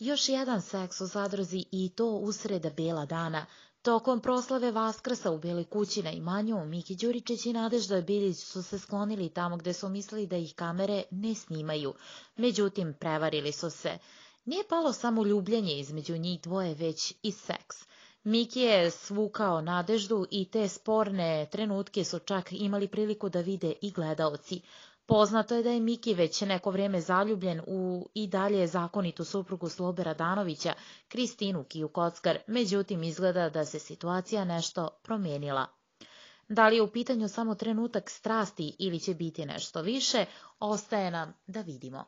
Još jedan seks u zadruzi i to usred bela dana. Tokom proslave Vaskrsa u Beloj kući na imanju, Miki Đuričić i Nadežda Biljić su se sklonili tamo gde su mislili da ih kamere ne snimaju. Međutim, prevarili su se. Nije palo samo ljubljenje između njih dvoje, već i seks. Miki je svukao Nadeždu i te sporne trenutke su čak imali priliku da vide i gledaoci. Poznato je da je Miki već neko vrijeme zaljubljen u i dalje zakonitu suprugu Slobe Radanovića, Kristinu Kiju Kockar, međutim izgleda da se situacija nešto promijenila. Da li je u pitanju samo trenutak strasti ili će biti nešto više, ostaje nam da vidimo.